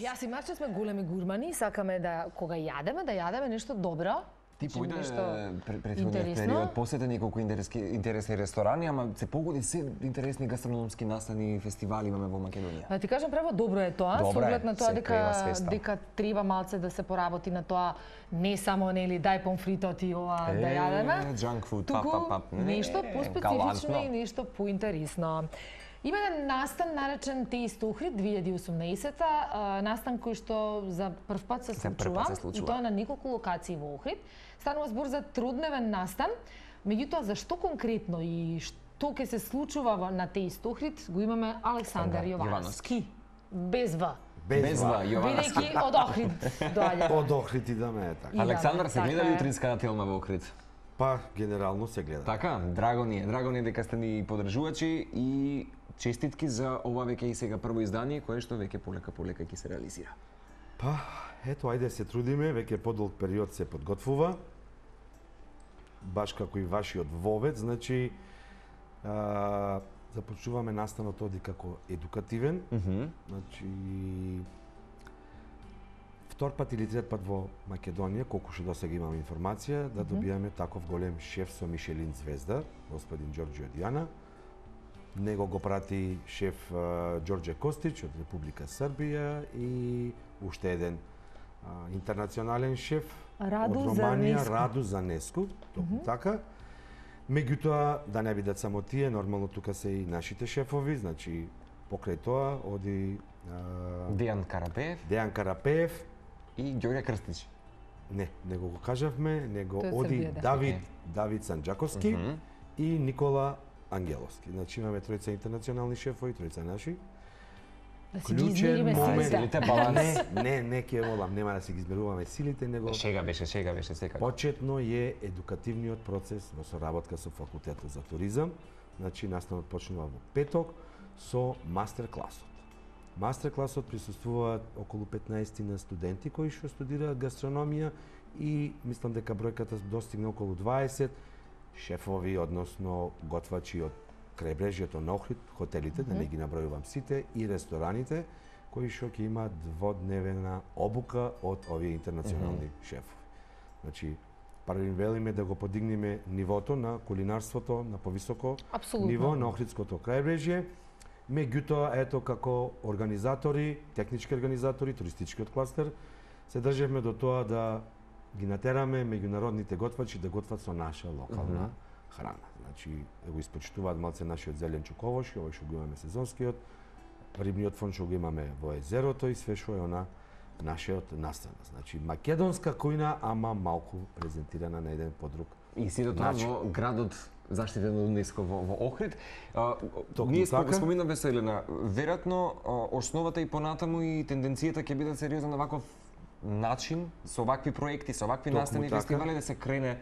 Јас и Марче сме големи гурмани, сакаме да кога јадеме нешто добро. Ти појде претходниот период, посети неколку интересни ресторани, ама се погоди се интересни гастрономски настани и фестивали имаме во Македонија. Да ти кажам право, добро е тоа, со оглед на тоа дека треба малце да се поработи на тоа, не само нели дај помфритот и ова да јадеме. Junk food, нешто поспецифично и нешто поинтересно. Има еден настан наречен Taste Охрид 2018-та, настан кој што за прв пат се случува, и тоа на неколку локации во Охрид. Станува збор за трудневен настан, меѓутоа зашто конкретно и што ќе се случува на Taste Охрид, го имаме Александар Јовановски. Без В. Без В, Јовановски. Бидејќи од Охрид доаѓа. Од Охрид идаме така. Александар, се гледа ли утринската телма во Охрид? Па, генерално се гледа. Така, драго ни е дека сте ни поддржувачи и честитки за ова веќе и сега прво издание, кое што веќе полека ќе се реализира. Па, ето, ајде се трудиме, веќе подолг период се подготвува. Баш како и вашиот вовец, значи започнуваме настанот оди како едукативен. Значи втор пат или трет пат во Македонија, колку што досега имам информација, да добијаме таков голем шеф со Мишелин звезда, господин Ѓорџио Дијана. Него го прати шеф Ѓорџе Костич од Република Србија и уште еден интернационален шеф од Романија, Раду Занеску, токму така. Меѓутоа, да не бидат само тие, нормално тука се и нашите шефови, значи покрај тоа оди Дејан Карапеев и Ѓорѓе Крстич. Не го кажавме, него оди Давид Санџаковски и Никола Ангеловски. Значи имаме тројца интернационални шефови, тројца наши. Да си ги измериме силите. Не ќе волам, нема да си ги измеруваме силите, него Шега беше секако. Почетно е едукативниот процес во соработка со факултетот за туризам. Значи настанот почнува во петок со мастер-класот. Мастер-класот присуствуваат околу 15 на студенти кои што студираат гастрономија и мислам дека бројката достигна околу 20 шефови, односно готвачи од крајбрежјето на Охрид, хотелите, да не ги набројувам сите, и рестораните, кои што ќе имаат дводневна обука од овие интернационални шефови. Значи, први велиме да го подигнеме нивото на кулинарството на повисоко ниво на Охридското крајбрежје. Меѓутоа, ето како организатори, технички организатори, туристичкиот кластер, се држевме до тоа да ги натераме меѓународните готвачи да готват со наша локална храна. Значи, го испочитуваат малце нашиот зелен чуковош, овој што го имаме сезонскиот, рибниот фон што го имаме во езерото и све што е она нашиот настан. Значи, македонска кујна, ама малку презентирана на еден подруг. И сите тоа во градот заштитен од УНЕСКО во Охрид. Ние споминавме се, Елена, веројатно основата и понатаму и тенденцијата ќе биде сериозна на ваков начин, со вакви проекти, со вакви настани фестивали да се крене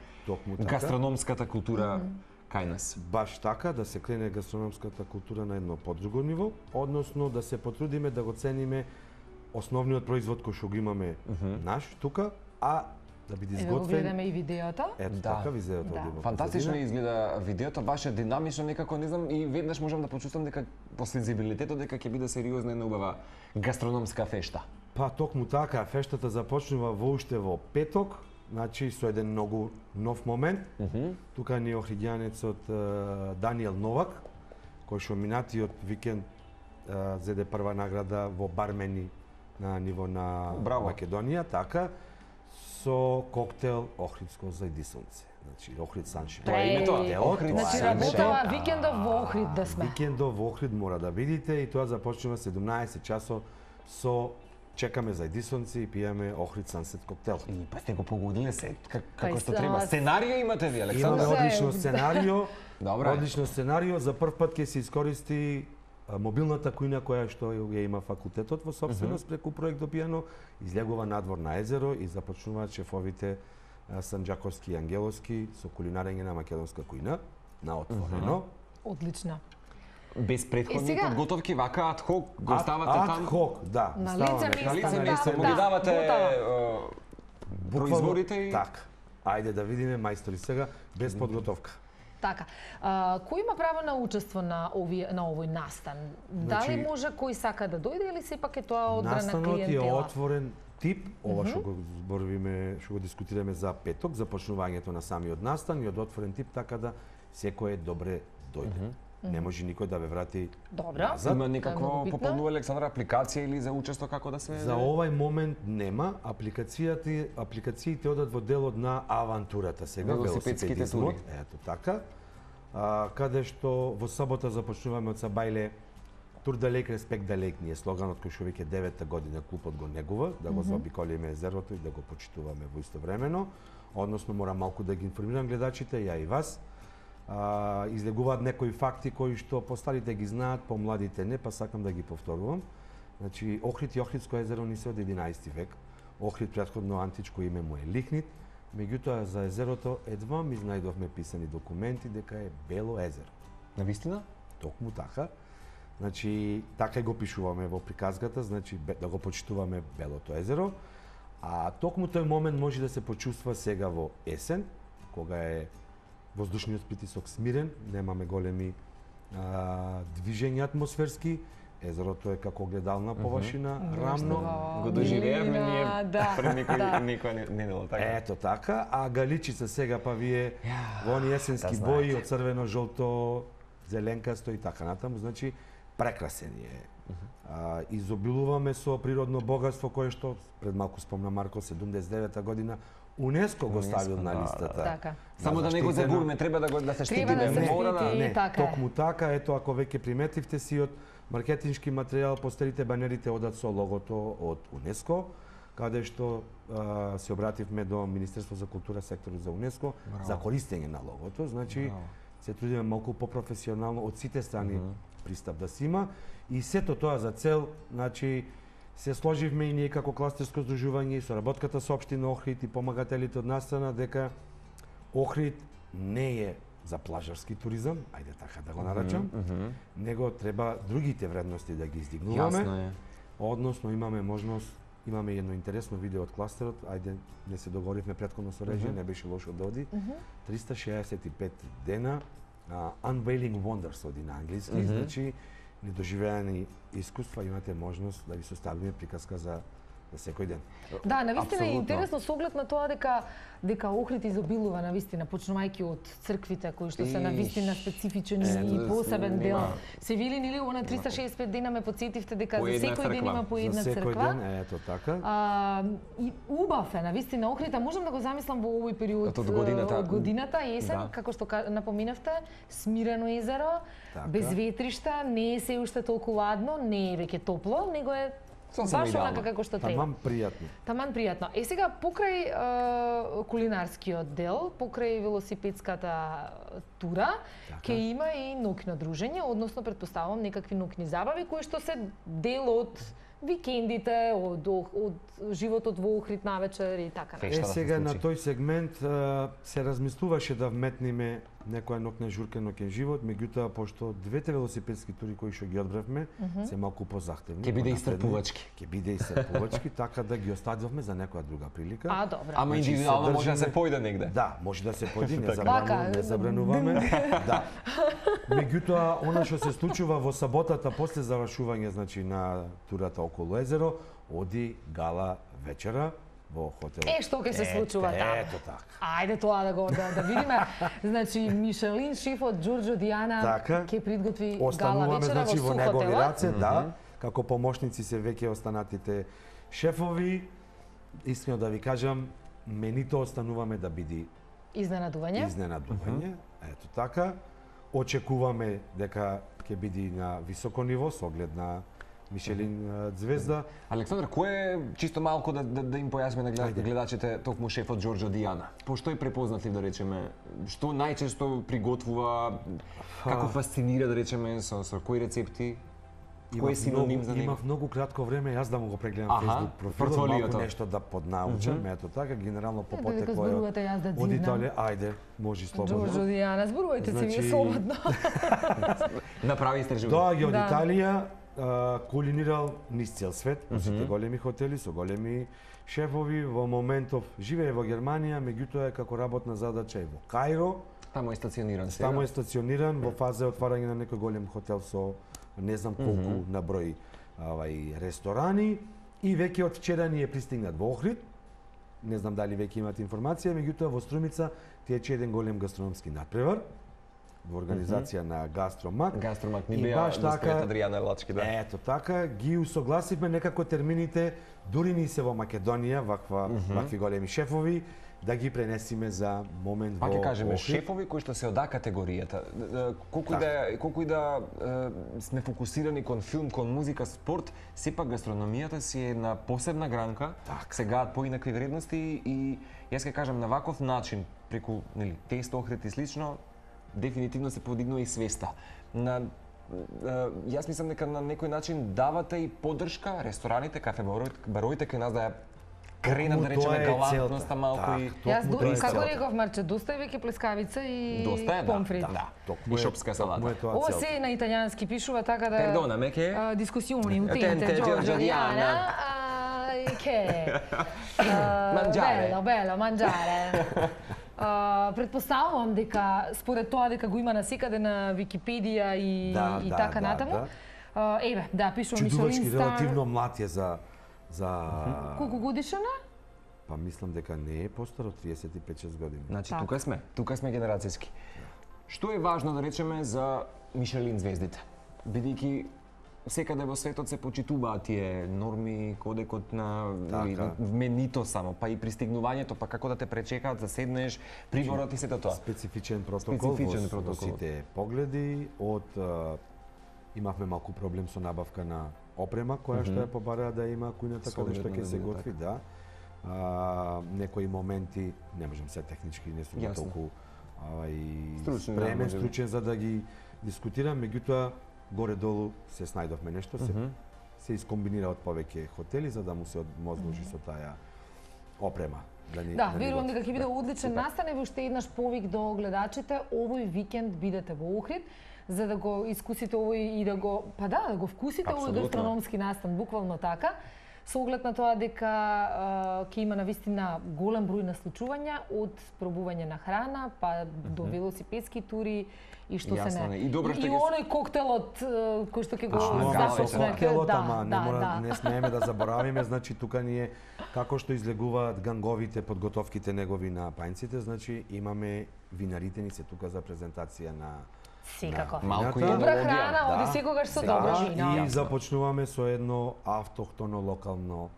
гастрономската култура кај нас. Баш така, да се крене гастрономската култура на едно подруго ниво, односно да се потрудиме да го цениме основниот производ кој што го имаме наш тука, а да биде изготвен. Ево го гледаме и видеото. Ето така видеото одима. Фантастично изгледа видеото, баш динамично некако, не знам, и веднаш можам да почувствам дека по сензибилитетот дека ќе биде сериозна една убава гастрономска фешта. Па токму така, фештата започнува уште во петок, значи со еден многу нов момент. Тука ни охридјанецот Даниел Новак, кој што минатиот викенд зеде прва награда во бармени на ниво на Македонија, така, со коктел Охридско зајдисонце. Значи, Охрид Саншайн. Тоа е името? Охрид Саншайн. Значи, работава викендов во Охрид да сме. Викендов во Охрид мора да видите и тоа започнува 17 часот со чекаме зајдисонци и пиеме Охрид Сансет коктел. И па сте го погодиле се, како што треба. Сценарио имате ви, Александар? Имаме одлично сценарио. Одлично сценарио. За прв пат ќе се искористи мобилната кујна која што ја има факултетот во собственост преку проект Допијано, излегува надвор на езеро и започнуваат шефовите Санџаковски и Ангеловски со кулинарење на македонска кујна на отворено. Одлично. Без претходни подготовки, вака адхок го ставате там? Адхок, да. На лице место му ги давате производите и... Така. Ајде да видиме, мајстори, сега, без подготовка. Така. Кој има право на учество на овој настан? Дали може кој сака да дојде или сепак е тоа одбрана клиентела? Настанот е отворен тип, ова што го зборуваме, што го дискутираме за петок, започнувањето на самиот настан и од отворен тип, така да секој е добре дојде. Не може никој да ве врати назад. Има некакво попълнува Александра апликација или за учество како да се... За овај момент нема. Апликациите одат во делот на авантурата сега, велосипедските тури. Ето така. Каде што во сабота започнуваме од Сабајле Тур далек, респект далек ни е слоганот кој што веќе 9-та година клубот го негува, да го заобиколиме езерото и да го почитуваме во истовремено. Односно мора малку да ги информирам гледачите, ја и вас. Излегуваат некои факти кои што постарите ги знаат, помладите не, па сакам да ги повторувам. Значи, Охрид и Охридско езеро ни се од 11 век. Охрид претходно античко име му е Лихнит, меѓутоа за езерото едва ми знајдовме писани документи дека е Бело езеро. Навистина? Токму така. Значи, така и го пишуваме во приказката, значи да го почитуваме Белото езеро. А токму тој момент може да се почувства сега во есен, кога е воздушниот притисок смирен, немаме големи движења атмосферски, езерото е како гледална површина, рамно. Го доживеевме ние пред никој недела така. Ето така, а Галичица сега па вие во они есенски бои од црвено, жолто, зеленкасто и така натаму, значи прекрасен е. Изобилуваме со природно богатство кое што пред малку спомна Марко 79-та година УНЕСКО го ставил на листата. Така. Само да не го загубиме, треба да се штити, не мора да... Не, токму така, ето ако веќе приметивте сиот маркетиншки материјал, постерите банерите одат со логото од УНЕСКО, каде што се обративме до Министерство за култура, секторот за УНЕСКО, за користење на логото, значи се трудиме малку попрофесионално од сите страни пристап да се има и сето тоа за цел, значи се сложивме и ние како кластерско здружување и соработката со општина Охрид и помагателите од настана дека Охрид не е за плажарски туризам, ајде така да го наречам, него треба другите вредности да ги издигнуваме. Јасно е. Односно имаме можност, имаме едно интересно видео од кластерот, ајде не се договоривме претходно со режија, не беше лошо да оди. 365 дена Unveiling Wonders оди на англиски, значи недоживеани искуства, имате можност да ви составиме приказка за секој ден. Да, навистина е интересно со оглед на тоа дека Охрид изобилува навистина, почнувајќи од црквите кои што се навистина специфичен и посебен дел. Се вели нели на 365 дена ме потсетивте дека за секој ден има по една црква. За секој ден, ето така. И убав е навистина Охрид, можам да го замислам во овој период од годината, есен, како што напоминавте, смирено езеро, без ветришта, не е се уште толку ладно, не е веќе топло, него е баш онака како што треба. Таман пријатно. Таман пријатно. Сега покрај кулинарскиот дел, покрај велосипедската тура, ќе има и ноќно дружење, односно претпоставувам некакви ноќни забави кои што се дел од викендите, од животот во Охрид навечер и така натаму. Сега на тој сегмент се размислуваше да вметниме некоја ноќна журка, ноќен живот, меѓутоа пошто двете велосипедски тури кои што ги одбравме се малку позахтевни. Ќе биде истрпувачки. Ќе биде истрпувачки, така да ги оставивме за некоја друга прилика. Добро. Ама индивидуално може да се појде негде. Да, може да се појде, не забрануваме. Да. Меѓутоа, она што се случува во саботата после завршување, значи на турата околу езеро, оди гала вечера во хотел. Што ќе се случува таму? Ето така. Ајде тоа да видиме. Значи Мишелин шефот Ѓорџо Дијана ќе приготви гала вечера значи, во негови раце, да. Како помошници се веќе останатите шефови. Искрено да ви кажам, менито остануваме да биде изненадување. Ето така. Очекуваме дека ќе биде на високо ниво со оглед на Мишелин звезда. Александр, кој е чисто малку да им појасниме на гледачите токму шефот Ѓорџо Дијана? Пошто е препознатлив, да речеме, што најчесто приготвува, како фасцинира, да речеме, со кои рецепти? Кој е синоним за него? Имав многу кратко време, јас да му го прегледам Facebook профилот, малку нешто да поднаучам, ето така, генерално по потекло е од Италија. Ајде, може слободно. Ѓорџо Дијана, зборувајте се вие слободно. Направи истражување. Доаѓа од Италија, кулинирал низ цел свет, во сите големи хотели, со големи шефови, во моментов живее во Германија, меѓутоа е како работна задача е во Кајро, Таму е стациониран сега. Таму е стациониран во фаза отварање на некој голем хотел со не знам колку на број ресторани и веќе од вчера ни е пристигнат во Охрид. Не знам дали веќе имате информација, меѓутоа во Струмица тече еден голем гастрономски надпревар во организација на Гастромак. Гастромак ни беа госпојата Адријана Лачки, да. Ето така, ги усогласивме некако термините, дури ни се во Македонија, вакви големи шефови, да ги пренесиме за момент во Охрид. Пак ќе кажеме, Охрид. шефови кои што се ода категоријата. Колку и да сме фокусирани кон филм, кон музика, спорт, сепак гастрономијата си е една посебна гранка, сегаат поинакви вредности и јас ќе кажам на ваков начин, преку тест Охрид и слично, дефинитивно се подигнува и свеста. Јас мислам дека на некој начин давате и поддршка рестораните, кафе баровите кај нас да ја кренат, да речеме, галантноста малку и... Јас, како реков Марче, доста е веќе плескавица и помфрит. И шопска салата. Ова се на италијански пишува, така да... Пердона, меке? Дискусиони, утенте, Giorgio Diana. Che? Mangiare. Bello, mangiare. Предпоставувам дека според тоа дека го има насекаде на Википедија и така натаму. Еве, да, пишува Мишелин Чудувачки, релативно млад е за Колку годишен е? Па мислам дека не е постар од 35-6 години. Значи, тука сме генерацијски. Што е важно да речеме за Мишелин звездите? Бидејќи секаде во светот се почитуваат тие норми, кодекот на менито само, па и пристигнувањето, па како да те пречекаат, да седнеш, приборот и сето тоа. Специфичен протокол во сите погледи. Имавме малку проблем со набавка на опрема која што ја побараа да има кујната каде што ќе се готви, да. Некои моменти, не можам се технички, не сум толку спремен, стручен за да ги дискутирам, меѓутоа горе-долу се снајдовме нешто, се искомбинира од повеќе хотели за да му се одмозложи со таа опрема. Да, верувам дека ќе биде одличен настан и уште еднаш повик до гледачите, овој викенд бидете во Охрид за да го искусите овој и да го, да го вкусите овој гастрономски настан, буквално така. Со оглед на тоа дека ќе има навистина голем број на случувања од пробување на храна, па до велосипедски тури и што се не. И оној коктелот кој што ќе го започне. Коктелот, ама не смееме да заборавиме, значи тука ние како што излегуваат ганговите подготовките негови на пајнците, значи имаме винарите ни се тука за презентација на секако. Добра храна, оди секогаш со добро вино. И започнуваме со едно автохтоно локално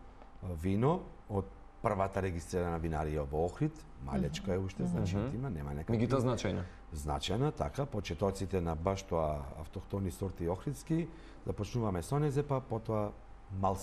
вино од првата регистрирана винарија во Охрид, малечка е уште, значи има, нема некакви. Меѓутоа значајна. Значајна, така, почетоците на баш тоа автохтони сорти охридски, започнуваме со незе, па потоа мал